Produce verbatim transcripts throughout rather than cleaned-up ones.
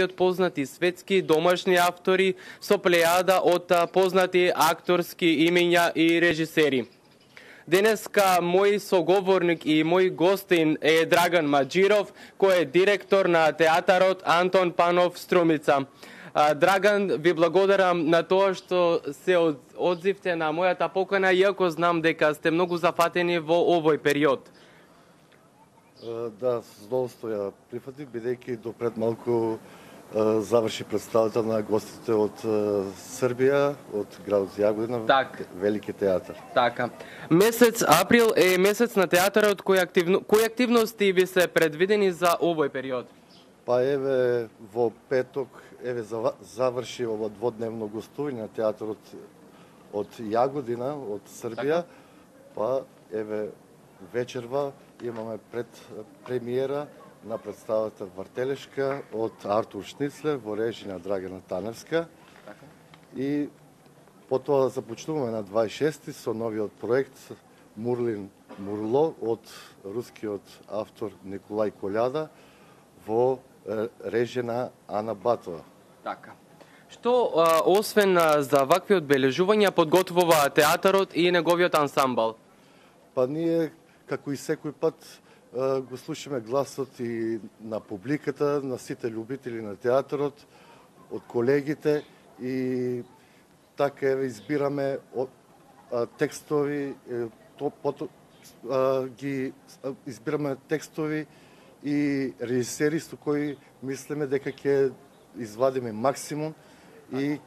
од познати светски домашни автори со плејада од познати акторски имења и режисери. Денеска мој соговорник и мој гостин е Драган Маџиров, кој е директор на театарот Антон Панов Струмица. Драган, ви благодарам на тоа што се одзивте на мојата покана, иако знам дека сте многу зафатени во овој период. Да, с задоволство ја прифатив, бидејќи до пред малку заврши представата на гостите од Србија, од градот Јагодина, так. Велики театар. Така. Месец април е месец на театарот, кои, активно, кои активности ви се предвидени за овој период? Па еве во петок еве заврши ова дводневно гостување на театарот од Јагодина, од Србија, така. Па еве вечерва имаме пред премиера на представата Вртелешка од Артур Шницлер во режија на Драгана Таневска. Така. И потоа започнуваме на дваесет и шести со новиот проект Мурлин Мурло од рускиот автор Николај Кољада во режија на Ана Батова. Така. Што, а, освен за вакви одбележувања, подготвува театарот и неговиот ансамбл? Па ние, како и секој пат, го слушаме гласот и на публиката, на сите љубители на театарот, од колегите и така еве избираме текстови, то, пото, ги избираме текстови и режисери со кои мислиме дека ќе извадиме максимум и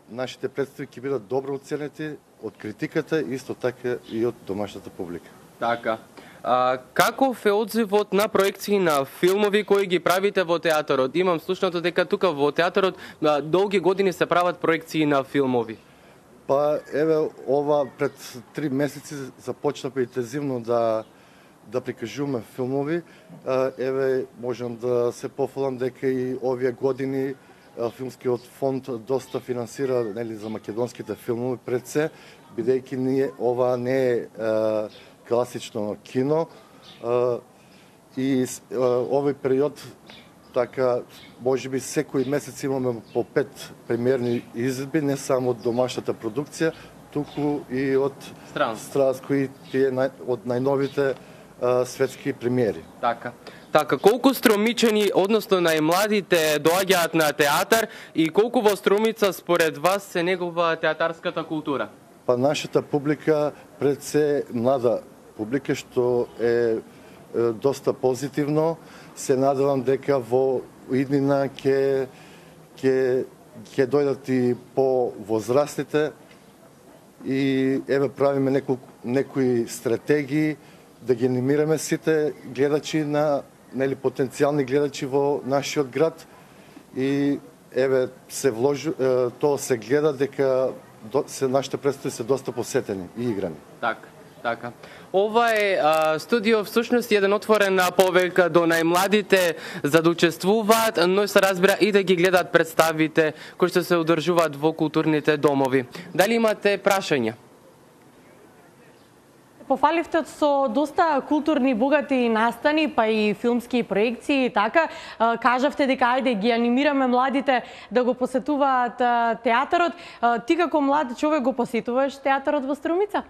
нашите представи ќе бидат добро оценети од критиката, исто така и од домашната публика. Така. А, каков е одзивот на проекции на филмови кои ги правите во театарот? Имам слушнато дека тука во театарот а, долги години се прават проекции на филмови. Па еве ова пред три месеци започнавме интензивно да да прикажуваме филмови. А, еве можам да се пофалам дека и овие години а, филмскиот фонд доста финансира, нели, за македонските филмови пред се, бидејќи ние ова не е а, класично кино а, и а, овој период така можеби секој месец имаме по пет премиерни изvedби, не само од домашната продукција, туку и од стран, кои тие нај, од најновите а, светски премиери. Така. Така, колку струмичани, односно најмладите доаѓаат на театар и колку во Струмица според вас се негува театарската култура? Па нашата публика пред се млада публика, што е, е доста позитивно. Се надевам дека во иднина ќе ќе ќе дојдат и по возрастите и еве правиме неколку некои стратегии да ги анимираме сите гледачи на, нели, потенцијални гледачи во нашиот град и еве се вложи, тоа се гледа дека се нашите представи се доста посетени и играни. Така. Така. Ова е а, студио всушност еден отворен повик до најмладите за да учествуваат, но се разбира и да ги гледаат представите кои што се одржуваат во културните домови. Дали имате прашања? Пофаливте со доста културни богати настани, па и филмски проекции, така. Кажавте дека ајде ги анимираме младите да го посетуваат театарот. Ти како млад човек го посетуваш театарот во Струмица?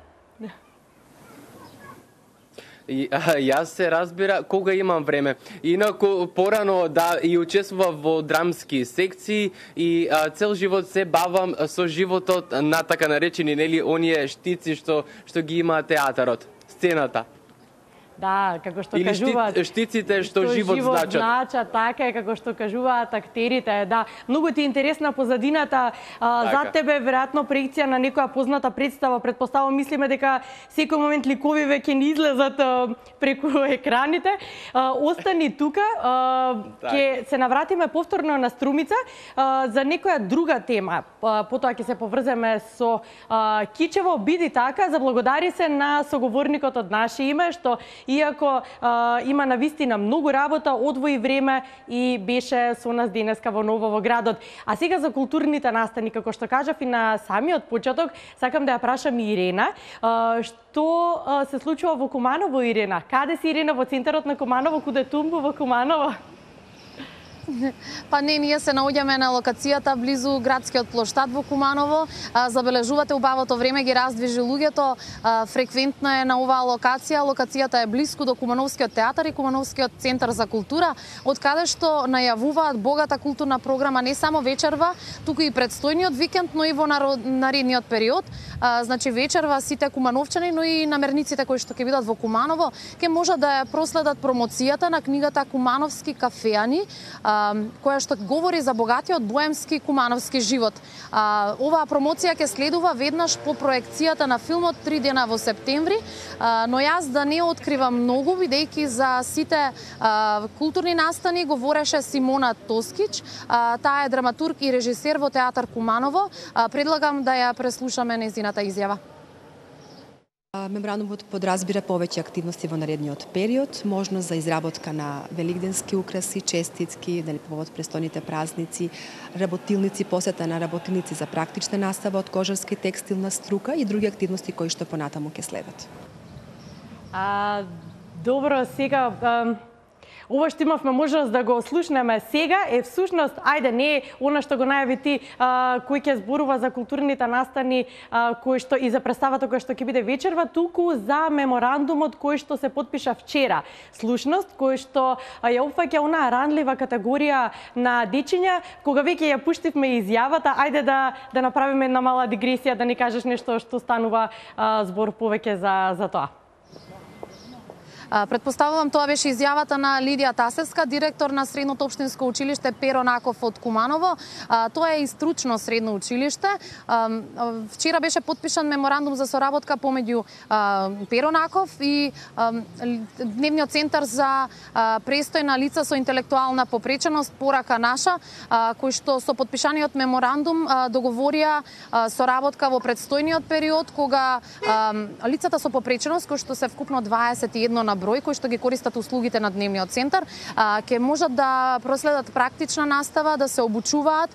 И, а, јас се разбира кога имам време. Инаку порано да и учествував во драмски секции и а, цел живот се бавам со животот на така наречени, нели, оние штици што што ги има театарот, сцената. Да, како што Или кажуваат... Или штиците што, што живот, живот значат. значат. Така е, како што кажуваат актерите. Да, многу ти е интересна позадината. А, така. За тебе, веројатно, проекција на некоја позната представа. Предпоставувам, мислиме дека секој момент ликовиве ќе ни излезат а, преку екраните. А, остани тука. А, ќе се навратиме повторно на Струмица а, за некоја друга тема. А, потоа ќе се поврземе со а, Кичево. Биди така, заблагодари се на соговорникот од наше име, што иако а, има навистина многу работа, одвои време и беше со нас денеска во Ново во градот. А сега за културните настани, како што кажав и на самиот почеток, сакам да ја прашам и Ирена, а, што а, се случува во Куманово, Ирена? Каде си, Ирена? Во центарот на Куманово, куде Тумбо во Куманово? Па не, ние се наоѓаме на локацијата близу градскиот плоштад во Куманово. Забележувате убавото време ги раздвижи луѓето, фреквентно е на оваа локација. Локацијата е близко до Кумановскиот театар и Кумановскиот центар за култура, од каде што најавуваат богата културна програма не само вечерва, туку и предстојниот викенд, но и во наредниот период. Значи вечерва сите кумановчани, но и намерниците кои што ќе бидат во Куманово, ќе можат да ја проследат промоцијата на книгата Кумановски кафеани, која што говори за богатиот боемски кумановски живот. Оваа промоција ќе следува веднаш по проекцијата на филмот три дена во септември, но јас да не откривам многу, бидејќи за сите културни настани говореше Симона Тоскич. Таа е драматург и режисер во театар Куманово. Предлагам да ја преслушаме нејзината изјава. Меморандумот подразбира повеќе активности во наредниот период, можност за изработка на великденски украси, честитки, дали повод престојните празници, работилници, посета на работилници за практична настава од кожарска и текстилна струка и други активности кои што понатаму ќе следат. А, добро, сега а... Ова што имавме можност да го слушнеме сега е всушност, ајде, не е она што го најави ти, а, кој ќе зборува за културните настани, а, кој што и за представата која што ќе биде вечерва, туку за меморандумот кој што се потпиша вчера. Слушност кој што ја опфаќа онаа ранлива категорија на дечиња, кога веќе ја пуштивме изјавата, ајде да да направиме една мала дигресија, да ни кажеш нешто што станува а, збор повеќе за за тоа. Предпоставувам тоа беше изјавата на Лидија Тасевска, директор на Средното општинско училиште Перо Наков од Куманово. Тоа е и стручно средно училиште. Вчера беше потпишан меморандум за соработка помеѓу Перо Наков и Дневниот центар за престојна лица со интелектуална попреченост Порака наша, кој што со потпишаниот меморандум договорија соработка во предстојниот период, кога лицата со попреченост, кои што се вкупно дваесет и едно на број кои што ги користат услугите на Дневниот центар, ќе можат да проследат практична настава, да се обучуваат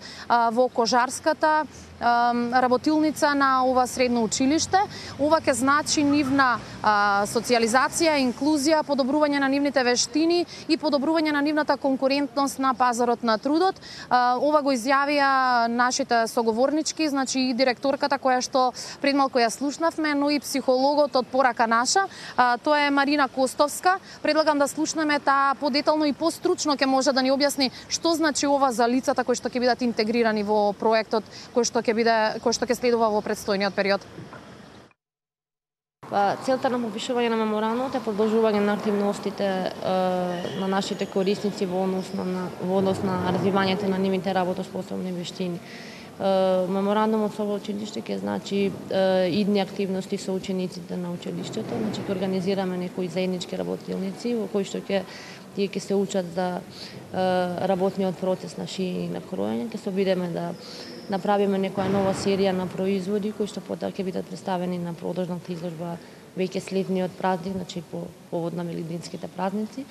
во кожарската работилница на ова средно училиште. Ова ќе значи нивна а, социјализација, инклузија, подобрување на нивните вештини и подобрување на нивната конкурентност на пазарот на трудот. А, ова го изјавија нашите соговорнички, значи и директорката која што пред малку ја слушнавме, но и психологот од Порака наша. А, тоа е Марина Костовска. Предлагам да слушнеме таа подетално и постручно ќе може да ни објасни што значи ова за лицата кои што ќе бидат интегрирани во проектот кој што ќе биде кој што ќе следува во предстојниот период. Па, целта на подпишување на меморандумот е продолжување на активностите е, на нашите корисници во однос на во однос на развивањето на нивните работоспособни вештини. Меморандумот со ова училиште ќе значи е, идни активности со учениците на училиштето, значи ќе организираме некои заеднички работилници во кои што ќе тие ќе се учат за е, работниот процес на шиење и на кроење, ќе се обидеме да направиме некоја нова серија на производи кои што потоа ќе бидат представени на продолжната изложба веќе следниот празник, значи по повод на великденските празници.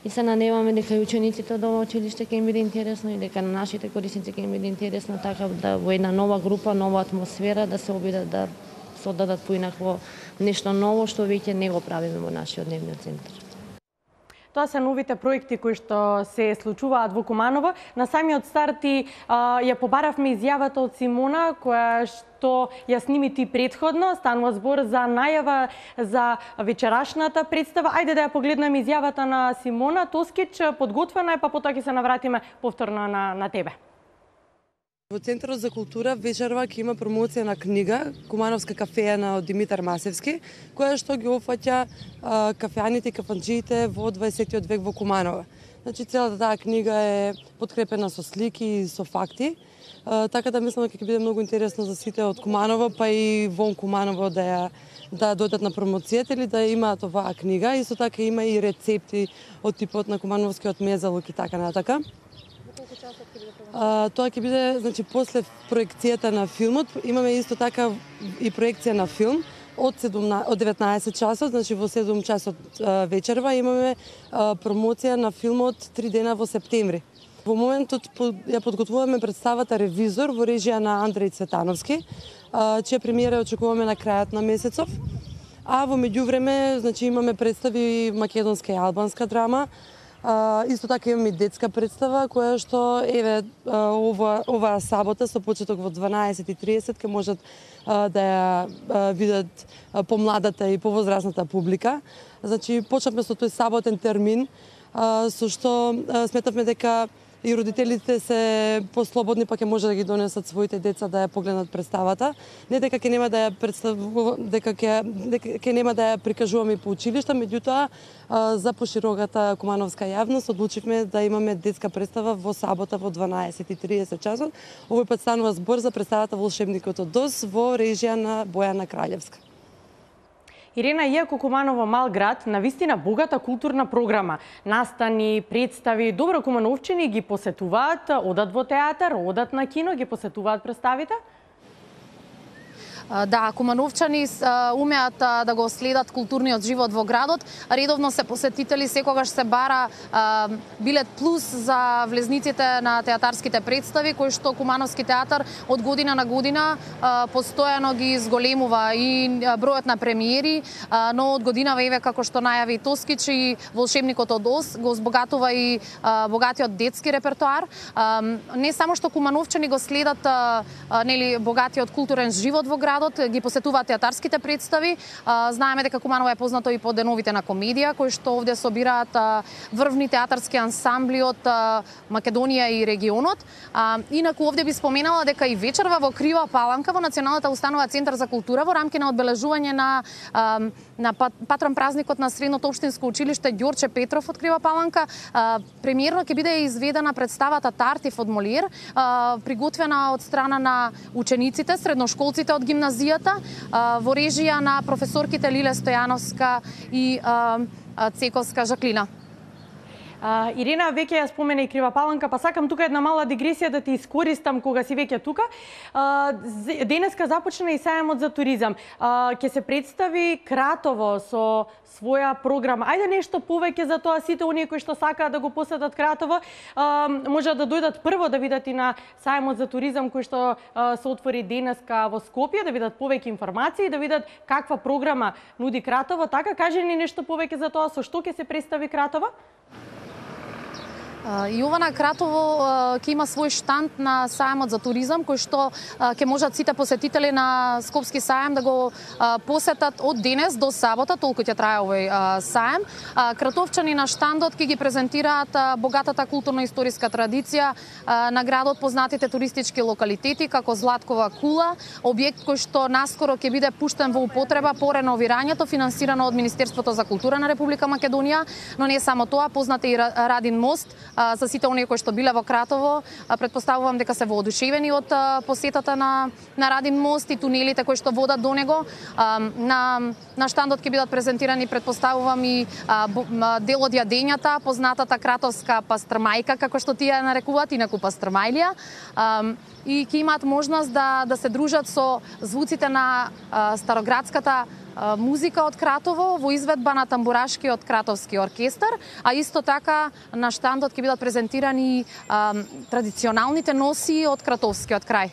И се надеваме дека и учениците од ова училиште ќе им биде интересно и дека на нашите корисници ќе им биде интересно, така да во една нова група, нова атмосфера да се обидат да се оддадат поинакво нешто ново што веќе не го правиме во нашиот Дневниот центар. Тоа се новите проекти кои што се случуваат во Куманово. На самиот старт и а, ја побаравме изјавата од Симона, која што ја сними ти предходно. Станува збор за најава за вечерашната представа. Ајде да ја погледнеме изјавата на Симона Тоскич. Подготвена е, па потоа ќе се навратиме повторно на, на тебе. Во Центарот за култура вечерва ќе има промоција на книга Кумановска кафеана од Димитар Масевски, која што ги опфаќа кафеаните и кафанџиите во дваесеттиот век во Куманово. Значи целата таа книга е подкрепена со слики и со факти, а, така да мислам дека ќе биде многу интересно за сите од Куманово, па и вон Куманово да ја да дојдат на промоцијата или да имаат оваа книга. Исто така има и рецепти од типот на кумановскиот мезалук и така натака. А, тоа ќе биде, значи, после проекцијата на филмот, имаме исто така и проекција на филм од седумнаесет од деветнаесет часот, значи во седум часот а, вечерва имаме а, промоција на филмот три дена во септември. Во моментот ја подготвуваме представата Ревизор во режија на Андреј Цветановски, а, чија премиера очекуваме на крајот на месецов. А во меѓувреме, значи, имаме представи македонска и албанска драма, А, исто така имаме и детска представа која што еве ова оваа сабота со почеток во дванаесет и триесет ќе можат а, да ја а, видат помладата и повозрасната публика. Значи почнавме со тој саботен термин а, со што а, сметавме дека и родителите се послободни, па ќе може да ги донесат своите деца да ја погледнат представата. Не дека ќе нема да ја представува, дека ќе дека ќе нема да ја прикажуваме по училишта, меѓутоа за пошироката кумановска јавност одлучивме да имаме детска представа во сабота во дванаесет и триесет часот. Овој пат станува збор за представата Волшебникот од Оз во режија на Бојана Краљевска. Ирена, иако Куманово мал град, навистина богата културна програма, настани, представи, добро кумановчани ги посетуваат, одат во театар, одат на кино, ги посетуваат представите? Да, кумановчани умеат да го следат културниот живот во градот. Редовно се посетители, секогаш се бара билет плюс за влезниците на театарските представи, кои што Кумановски театар од година на година постојано ги зголемува и бројот на премиери, но од годинава еве како што најави Тоскич и Волшебникот од Оз го збогатува и богатиот детски репертоар. Не само што кумановчани го следат нели богатиот културен живот во градот, ги посетуваат театарските представи. Знаеме дека Куманово е познато и по деновите на комедија, кои што овде собираат врвни театарски ансамбли од Македонија и регионот. Инаку овде би споменала дека и вечерва во Крива Паланка во Националната установа Центар за култура во рамки на одбележување на на патрон празникот на Средното општинско училиште Ѓорче Петров од Крива Паланка, премиерно ќе биде изведена представата Тартиф од Молиер, приготвена од страна на учениците, средношколците од гимназијата, во режија на професорките Лиле Стојановска и Цековска Жаклина. Uh, Ирена веќе ја спомена и Крива Паланка, па сакам тука една мала дигресија да ти искористам кога си веќе тука. Uh, денеска започна и сајамот за туризам. Uh, ќе се представи Кратово со своја програма. Ајде нешто повеќе за тоа, сите оние кои што сакаат да го посетат Кратово, uh, можат да дојдат прво да видат и на сајамот за туризам кој што uh, се отвори денеска во Скопје, да видат повеќе информации, да видат каква програма нуди Кратово. Така, кажи ни нешто повеќе за тоа, со што ќе се представи Кратово? И ова на Кратово ќе има свој штанд на сајамот за туризам, кој што ќе можат сите посетители на Скопски сајам да го посетат од денес до сабота, толку ќе трае овој сајам. Кратовчани на штандот ќе ги презентираат богатата културно-историска традиција на градот, познатите туристички локалитети како Златкова кула, објект кој што наскоро ќе биде пуштен во употреба по реновирањето, финансирано од Министерството за култура на Република Македонија, но не само тоа, познат е и Радин мост. За сите оние кои што биле во Кратово, претпоставувам дека се воодушевени од посетата на на Радин мост и тунелите кои што водат до него. На на штандот ќе бидат презентирани, претпоставувам, и дел од јадењата, познатата кратовска пастрмајка, како што тие нарекуваат, инаку пастрмајлија. И ќе имаат можност да да се дружат со звуците на староградската музика од Кратово во изведба на тамбурашкиот кратовски оркестар, а исто така на штандот ќе бидат презентирани а, традиционалните носи од кратовскиот крај.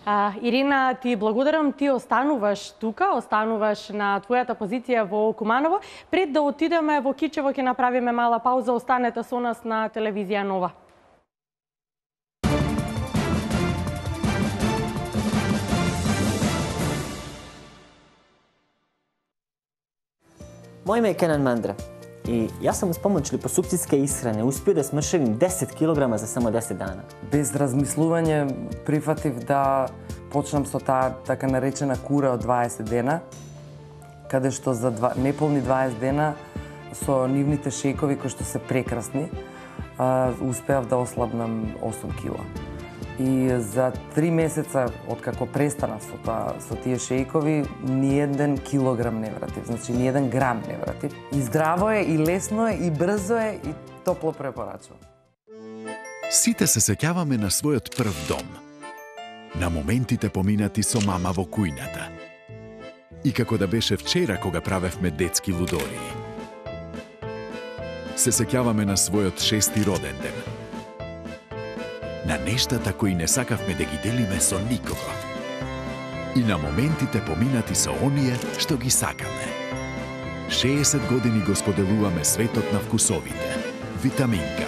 А, Ирина, ти благодарам, ти остануваш тука, остануваш на твојата позиција во Куманово. Пред да отидеме во Кичево ќе направиме мала пауза, останете со нас на телевизија Нова. Мој име е Кенан Мандра и јас сум с помоќ липосукцијска исхране успео да смршевим десет килограма за само десет дана. Без размислување прифатив да почнам со таа така наречена кура од дваесет дена, каде што за два, неполни дваесет дена со нивните шејкови кои што се прекрасни, успеав да ослабнам осум кила. И за три месеца откако престанав со тоа, со тие шејкови, ни еден килограм не вратив, значи ни еден грам не вратив. И здраво е, и лесно е, и брзо е, и топло препорачувам. Сите се сеќаваме на својот прв дом, на моментите поминати со мама во кујната. И како да беше вчера кога правевме детски лудории. Се сеќаваме на својот шести роден ден. На нештата кои не сакавме да ги делиме со никого. И на моментите поминати со оние што ги сакаме. шеесет години го споделуваме светот на вкусовите. Витаминка.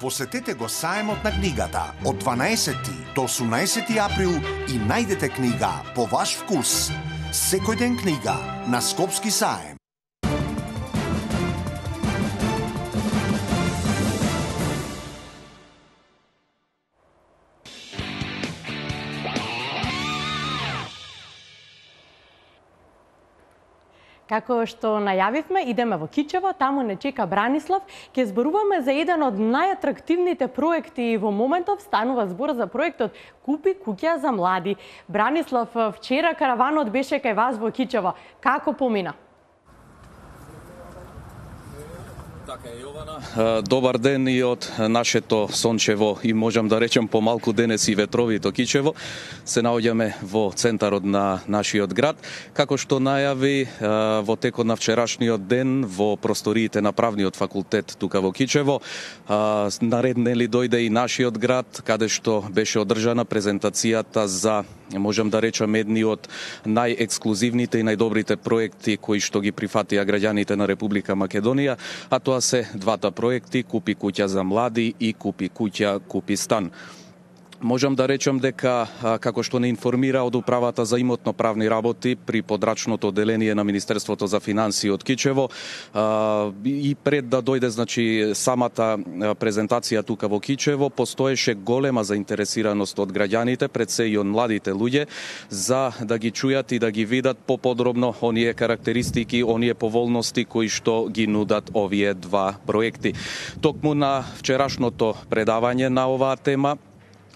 Посетете го саемот на книгата од дванаесети до осумнаесети април и најдете книга по ваш вкус. Секој ден книга на Скопски саем. Како што најавивме, идеме во Кичево, таму не чека Бранислав. Ке зборуваме за еден од најатрактивните проекти во моментов. Станува збор за проектот Купи куќа за млади. Бранислав, вчера караванот беше кај вас во Кичево. Како помина? Така е, Јована. Добар ден и од нашето сончево и можам да речем помалку денес и ветровито Кичево. Се наоѓаме во центарот на нашиот град. Како што најави во текот на вчерашниот ден во просториите на Правниот факултет тука во Кичево, наред нели дојде и нашиот град, каде што беше одржана презентацијата за, можам да речем, едни од најексклузивните и најдобрите проекти кои што ги прифатија граѓаните на Република Македонија, а тоа се двата проекти Купи куќа за млади и Купи куќа, купи стан. Можам да речем дека, како што не информира од Управата за имотно-правни работи при подрачното одделение на Министерството за финансии од Кичево, и пред да дојде значи самата презентација тука во Кичево, постоеше голема заинтересираност од граѓаните, пред се и од младите луѓе, за да ги чујат и да ги видат поподробно оние карактеристики, оние поволности кои што ги нудат овие два проекти. Токму на вчерашното предавање на оваа тема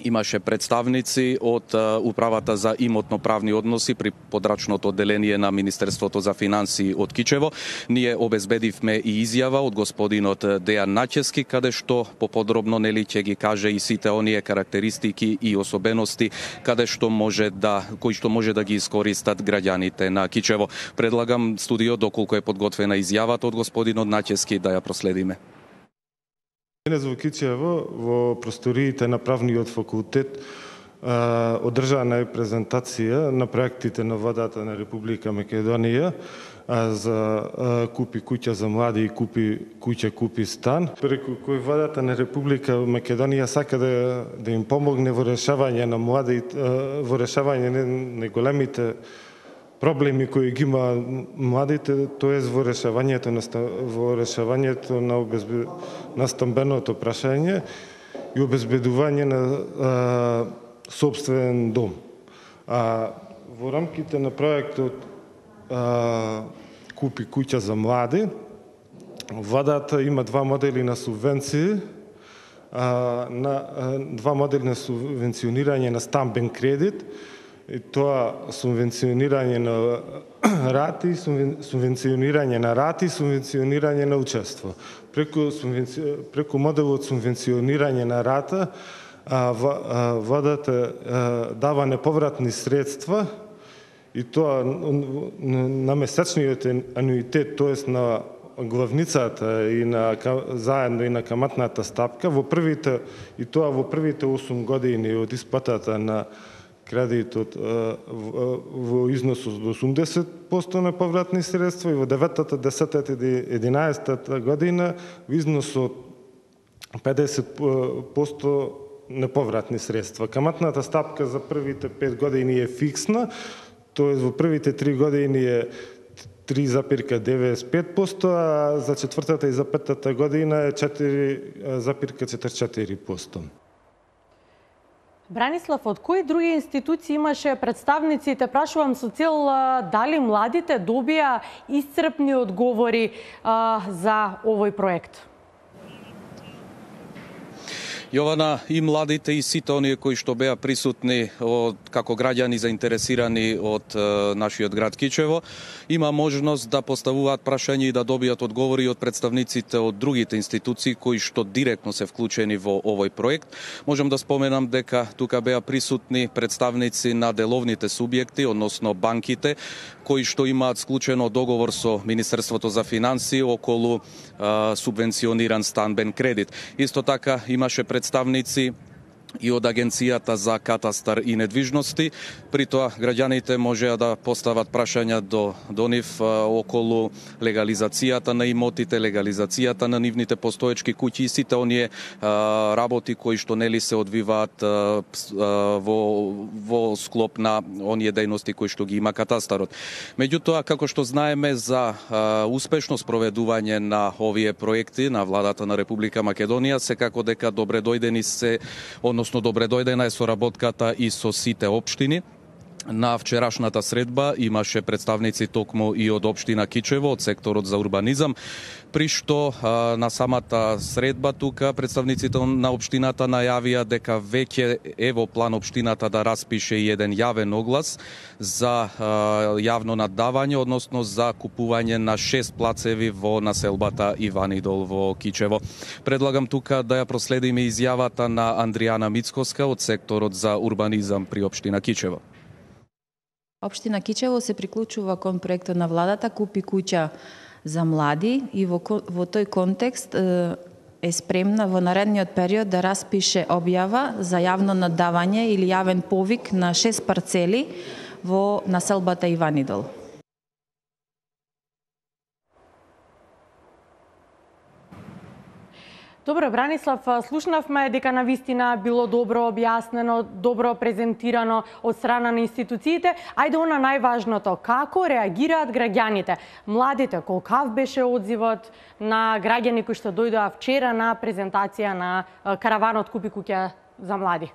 имаше представници од Управата за имотно-правни односи при подрачното одделение на Министерството за финансии од Кичево. Ние обезбедивме и изјава од господинот Дејан Начески, каде што поподробно нели ќе ги каже и сите оние карактеристики и особености каде што може да кои што може да ги искористат граѓаните на Кичево. Предлагам студио, доколку е подготвена изјавата од господинот Начески, да ја проследиме. Денес во Кичево, во просториите на Правниот факултет, одржана е презентација на проектите на владата на Република Македонија за Купи куќа за млади и Купи куќа, купи стан, преку кој владата на Република Македонија сака да, да им помогне во решавање на млади, во решавање на големите проблеми кои ги има младите, тоест во решавањето на во решавањето на обезбед... на стамбеното прашање и обезбедување на а, собствен дом. А во рамките на проектот а, Купи куќа за млади, владата има два модели на субвенции, а, на а, два модели на субвенционирање на стамбен кредит, и тоа субвенционирање на рати, субвенционирање на рати, субвенционирање на учество. Преку, субвенци... преку моделот субвенционирање на рата, а, владата дава неповратни средства и тоа на месечниот ануитет, тоест на главницата и на заедно и на каматната стапка во првите и тоа во првите осум години од исплатата на кредитот во износ од осумдесет проценти на повратни средства и во деветата, десетата и единаесетата година во износ од педесет проценти неповратни средства. Каматната стапка за првите пет години е фиксна, тоест во првите три години е три запирка деветдесет и пет проценти, а за четвртата и за петата година е четири запирка четирдесет и четири проценти. Бранислав, од кои други институции имаше представници, те прашувам со цел дали младите добија исцрпни одговори а, за овој проект? Јована, и младите и сите оние кои што беа присутни од, како граѓани заинтересирани од е, нашиот град Кичево, има можност да поставуваат прашања и да добијат одговори од представниците од другите институции кои што директно се вклучени во овој проект. Можам да споменам дека тука беа присутни представници на деловните субјекти, односно банките, кои што имаат склучено договор со Министерството за финансии околу е, субвенциониран станбен кредит. Исто така имаше представници и од Агенцијата за катастар и недвижности. При тоа граѓаните можеа да постават прашања до, до нив околу легализацијата на имотите, легализацијата на нивните постоечки куќи и сите оние а, работи кои што нели се одвиваат а, во, во склоп на оние дејности кои што ги има катастарот. Меѓутоа, како што знаеме за а, успешно спроведување на овие проекти на владата на Република Македонија, секако дека добре дојдени се, односно добре дојдена е соработката и со сите општини. На вчерашната средба имаше представници токму и од општина Кичево, од секторот за урбанизам, при што а, на самата средба тука представниците на општината најавија дека веќе е во план општината да распише и еден јавен оглас за а, јавно наддавање, односно за купување на шест плацеви во населбата Иванидол во Кичево. Предлагам тука да ја проследиме изјавата на Андријана Мицкоска од секторот за урбанизам при општина Кичево. Општина Кичево се приклучува кон проектот на владата Купи куќа за млади и во, во тој контекст е спремна во наредниот период да распише објава за јавно наддавање или јавен повик на шест парцели во населбата Иванидол. Добро, Бранислав, слушнавме дека навистина било добро објаснено, добро презентирано од страна на институциите. Ајде она најважното, како реагираат граѓаните? Младите, колкав беше одзивот на граѓани кои што дојдоа вчера на презентација на караванот Купи куќа за млади?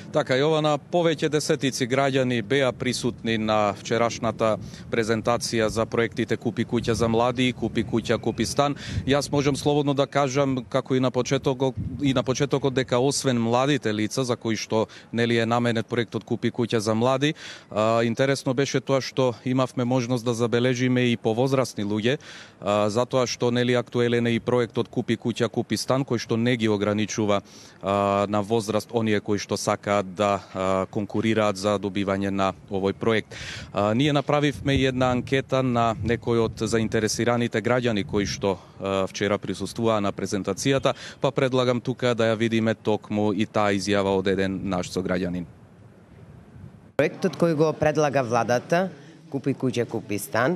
Така, Јована, повеќе десетици граѓани беа присутни на вчерашната презентација за проектите Купи куќа за млади и Купи куќа, Купи стан. Јас можам слободно да кажам, како и на почетокот, и на почетокот дека освен младите лица за кои што нели е наменет проектот Купи куќа за млади, а, интересно беше тоа што имавме можност да забележиме и повозрасни луѓе, а, затоа што нели актуелен е и проектот Купи куќа, Купи стан, кој што не ги ограничува а, на возраст оние кои што сакаат да а, конкурираат за добивање на овој проект. А, ние направивме една анкета на некои од заинтересираните граѓани кои што а, вчера присуствуваа на презентацијата, па предлагам тука да ја видиме токму и таа изјава од еден наш сограѓанин. Проектот кој го предлага владата, Купи куќа, Купи стан,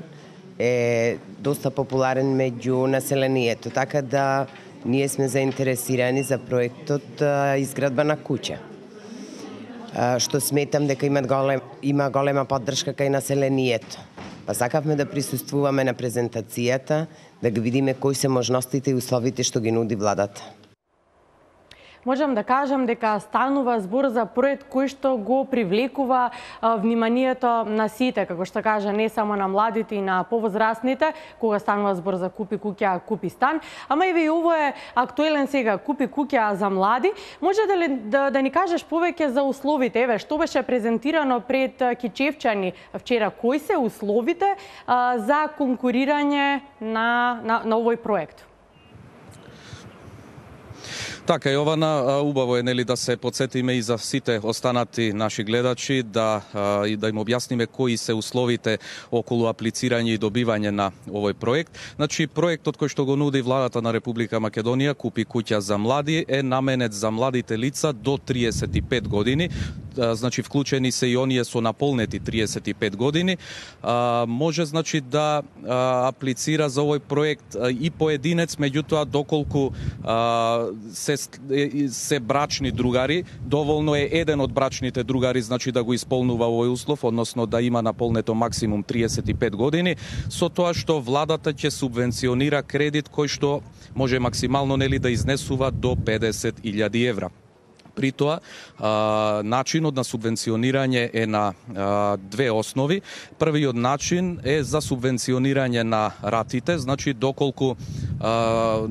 е доста популарен меѓу населението, така да ние сме заинтересирани за проектот а, изградба на куќа, што сметам дека има голем, има голема поддршка кај населението. Па сакавме да присуствуваме на презентацијата, да ги видиме кои се можностите и условите што ги нуди владата. Можам да кажам дека станува збор за проект кој што го привлекува а, вниманието на сите, како што кажа, не само на младите и на повозрастните, кога станува збор за Купи куќа, Купи стан, ама и ово е актуелен сега, Купи куќа за млади. Може да, ли, да, да ни кажеш повеќе за условите? Еве, што беше презентирано пред кичевчани вчера? Кои се условите а, за конкурирање на, на, на овој проект? Така, Јована, убаво е нели да се потсетиме и за сите останати наши гледачи да и да им објасниме кои се условите околу аплицирање и добивање на овој проект. Значи, проектот кој што го нуди владата на Република Македонија, Купи куќа за млади, е наменет за младите лица до триесет и пет години. Значи, вклучени се и оние со наполнети триесет и пет години. А, може, значи, да а, аплицира за овој проект а, и поединец, меѓутоа, доколку а, се, се брачни другари, доволно е еден од брачните другари, значи, да го исполнува овој услов, односно да има наполнето максимум триесет и пет години, со тоа што владата ќе субвенционира кредит кој што може максимално нели да изнесува до педесет илјади евра. При тоа, а, начинот на субвенционирање е на а, две основи. Првиот начин е за субвенционирање на ратите, значи доколку а,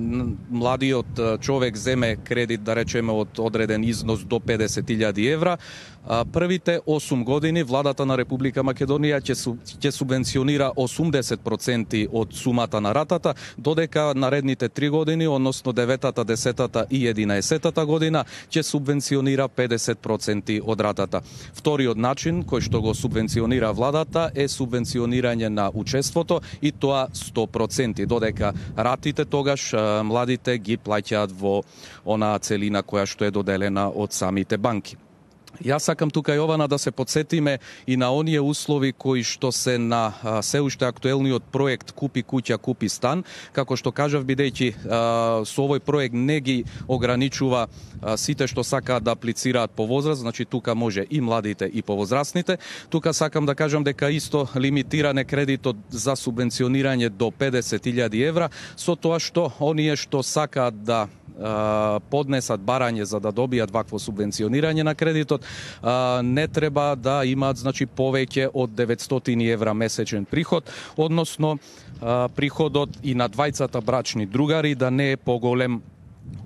младиот човек земе кредит, да речеме, од одреден износ до педесет илјади евра, а, првите осум години владата на Република Македонија ќе, ќе субвенционира осумдесет проценти од сумата на ратата, додека наредните три години, односно деветата, десетата и единаесетата година, ќе субвенционира педесет проценти од ратата. Вториот начин кој што го субвенционира владата е субвенционирање на учеството, и тоа сто проценти, додека ратите младите, тогаш младите ги плаќаат во онаа целина која што е доделена од самите банки. Јас сакам тука Јована да се подсетиме и на оние услови кои што се на а, се уште актуелниот проект Купи куќа, купи стан. Како што кажав, бидејќи а, со овој проект не ги ограничува а, сите што сакаат да аплицираат по возраст, значи тука може и младите и повозрастните. Тука сакам да кажам дека исто лимитиране кредитот за субвенционирање до педесет илјади евра, со тоа што оние што сакаат да поднесат барање за да добијат вакво субвенционирање на кредитот, не треба да имаат значи повеќе од деветстотини евра месечен приход, односно приходот и на двајцата брачни другари да не е поголем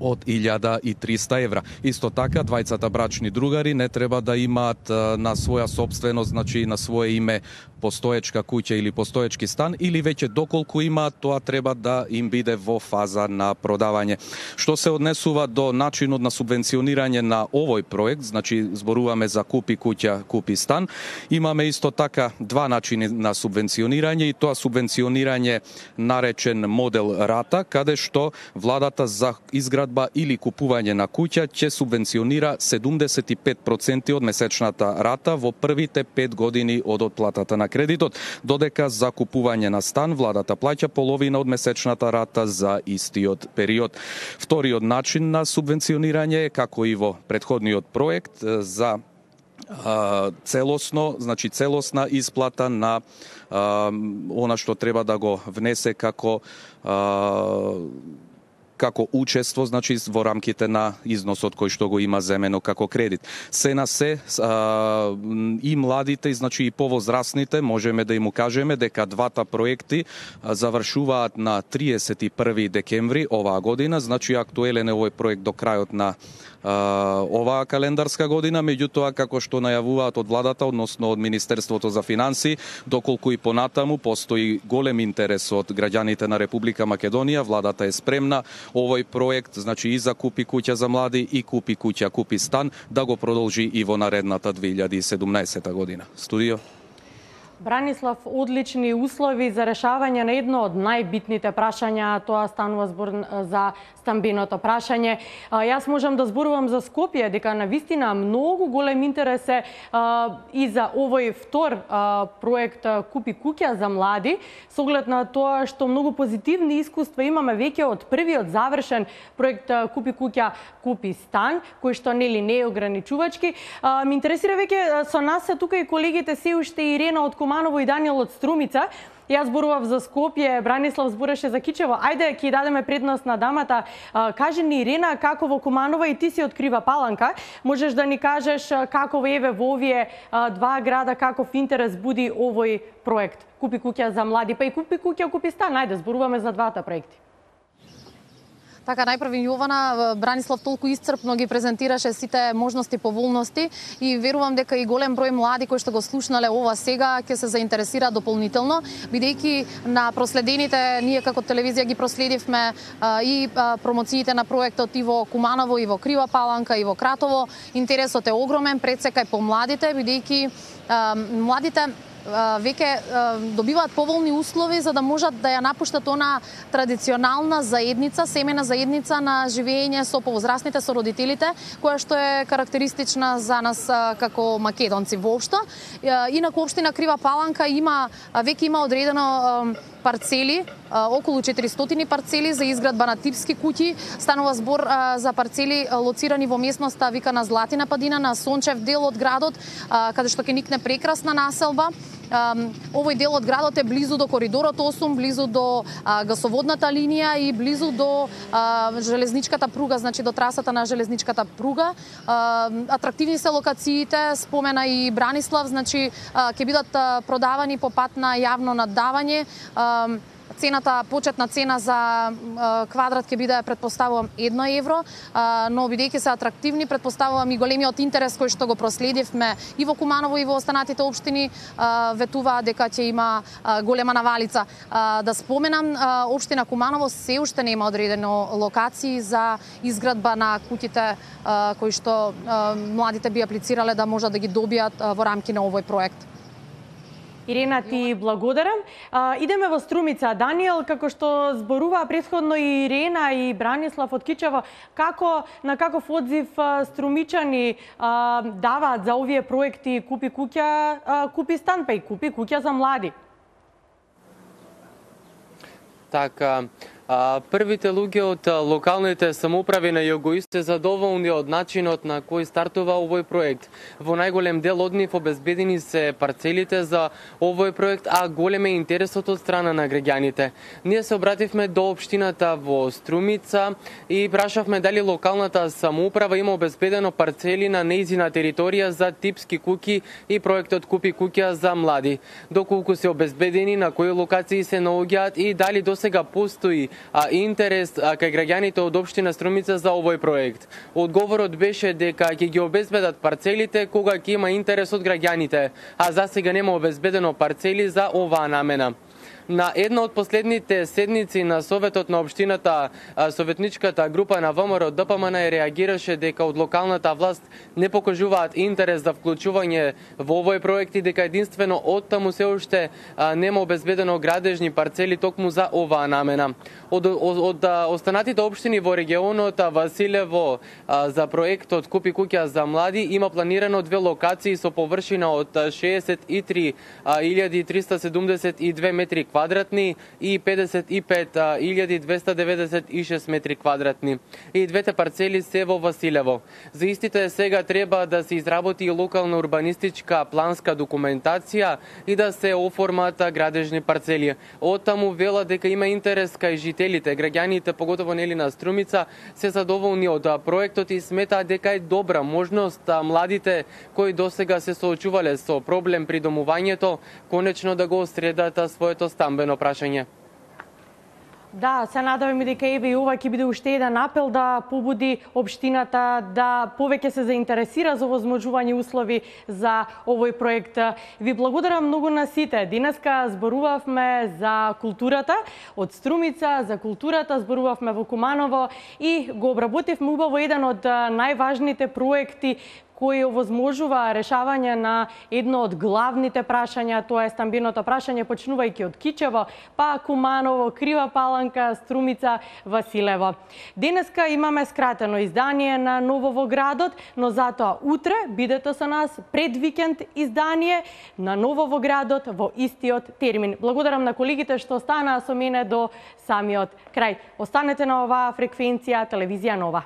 од илјада и триста евра. Исто така, двајцата брачни другари не треба да имаат на своја собственост, значи на свое име постоечка куќа или постоечки стан, или веќе доколку имаат, тоа треба да им биде во фаза на продавање. Што се однесува до начинот на субвенционирање на овој проект, значи зборуваме за Купи куќа, купи стан, имаме исто така два начини на субвенционирање, и тоа субвенционирање наречен модел рата, каде што владата за изградба или купување на куќа ќе субвенционира седумдесет и пет проценти од месечната рата во првите пет години од отплатата на кредитот, додека за купување на стан владата плаќа половина од месечната рата за истиот период. Вториот начин на субвенционирање е, како и во претходниот проект, за а, целосно, значи целосна исплата на а, она што треба да го внесе како а, како учество, значи во рамките на износот кој што го има земено како кредит. Се на се а, и младите, значи и повозрастните, можеме да им кажеме дека двата проекти завршуваат на триесет и први декември оваа година, значи актуелен е овој проект до крајот на а, оваа календарска година, меѓутоа како што најавуваат од владата, односно од Министерството за финансии, доколку и понатаму постои голем интерес од граѓаните на Република Македонија, владата е спремна овој проект, значи и за Купи куќа за млади и Купи куќа, купи стан, да го продолжи и во наредната две илјади и седумнаесета година. Студио. Бранислав, одлични услови за решавање на едно од најбитните прашања, тоа станува збор за стамбеното прашање. Јас можам да зборувам за Скопје, дека на вистина многу голем интерес е и за овој втор проект Купи куќа за млади, со оглед на тоа што многу позитивни искуства имаме веќе од првиот завршен проект Купи куќа, купи стан, кој што нели не е ограничувачки. Ме интересира веќе со нас се тука и колегите се уште Ирена од Куманово и Даниел од Струмица. Јас зборував за Скопје, Бранислав збореше за Кичево. Ајде, ќе дадеме предност на дамата. Кажи ни, Ирена, како во Куманово, и ти си од Крива Паланка, можеш да ни кажеш како еве во овие два града, каков интерес буди овој проект Купи куќа за млади, па и Купи куќа, купи стан. Ајде, зборуваме за двата проекти. Така, најпрви Јована, Бранислав толку исцрпно ги презентираше сите можности, поволности и верувам дека и голем број млади кои што го слушнале ова сега ќе се заинтересираат дополнително, бидејќи на проследените, ние како телевизија ги проследивме а, и а, промоциите на проектот и во Куманово, и во Крива Паланка, и во Кратово. Интересот е огромен, пред сека и по младите, бидејќи а, младите веќе добиваат поволни услови за да можат да ја напуштат она традиционална заедница, семена заедница на живење со повозрастните, со родителите, која што е карактеристична за нас како македонци воопшто. Инаку општина Крива Паланка има веќе има одредено парцели, околу четиристотини парцели за изградба на типски куќи. Станува збор за парцели лоцирани во местноста викана Златина падина на сончев дел од градот, каде што ќе никне прекрасна населба. Овој дел од градот е близу до коридорот осум, близу до гасоводната линија и близу до железничката пруга, значи до трасата на железничката пруга. Атрактивни се локациите, спомена и Бранислав, значи ќе бидат продавани по пат на јавно наддавање. Цената, почетна цена за квадрат ќе биде, предпоставувам, едно евро, но бидејќи се атрактивни, предпоставувам и големиот интерес кој што го проследивме и во Куманово и во останатите општини, ветува дека ќе има голема навалица. Да споменам, општина Куманово се уште нема одредено локации за изградба на куќите кои што младите би аплицирале да можат да ги добијат во рамки на овој проект. Ирена, ти благодарам. А, идеме во Струмица. Даниел, како што зборува претходно и Ирена и Бранислав од Кичево, како, на каков одзив а, струмичани а, даваат за овие проекти Купи куќа, а, Купи стан, па и Купи куќа за млади? Така, а, првите луѓе од локалните самоуправи на Југоист се задоволни од начинот на кој стартува овој проект. Во најголем дел од нив обезбедени се парцелите за овој проект, а голем е интересот од страна на граѓаните. Ние се обративме до општината во Струмица и прашавме дали локалната самоуправа има обезбедено парцели на нејзина територија за типски куќи и проектот Купи куќа за млади. Доколку се обезбедени, на кои локации се наоѓаат и дали досега постои а, интерес а, кај граѓаните од општина Струмица за овој проект. Одговорот беше дека ќе ги обезбедат парцелите кога ќе има интерес од граѓаните, а за сега нема обезбедено парцели за оваа намена. На една од последните седници на Советот на општината, советничката група на ВМРО ДПМН реагираше дека од локалната власт не покажуваат интерес за вклучување во овој проект и дека единствено од таму се уште нема обезбедено градежни парцели токму за оваа намена. Од, од, од останатите општини во регионот Василево за проектот Купи куќа за млади има планирано две локации со површина од шеесет и три илјади триста седумдесет и две метри квадратни и педесет и пет илјади двеста деветдесет и шест метри квадратни. И двете парцели се во Василево. За истите сега треба да се изработи локална урбанистичка планска документација и да се оформат градежни парцели. Оттаму вела дека има интерес кај жителите, граѓаните, поготово нели на Струмица, се задоволни од проектот и сметаат дека е добра можност младите кои досега се соочувале со проблем при домувањето, конечно да го средат своето стамбено прашање. Да, се надеваме дека еве и ова ќе биде уште еден апел да побуди општината да повеќе се заинтересира за овозможување услови за овој проект. Ви благодарам многу на сите. Денеска зборувавме за културата од Струмица, за културата зборувавме во Куманово и го обработивме убаво еден од најважните проекти кој овозможува решавање на едно од главните прашања, тоа е стамбеното прашање, почнувајќи од Кичево, па Куманово, Крива Паланка, Струмица, Василево. Денеска имаме скратено издание на Ново во градот, но затоа утре бидете со нас пред викенд издание на Ново во градот во истиот термин. Благодарам на колегите што останаа со мене до самиот крај. Останете на оваа фреквенција Телевизија Нова.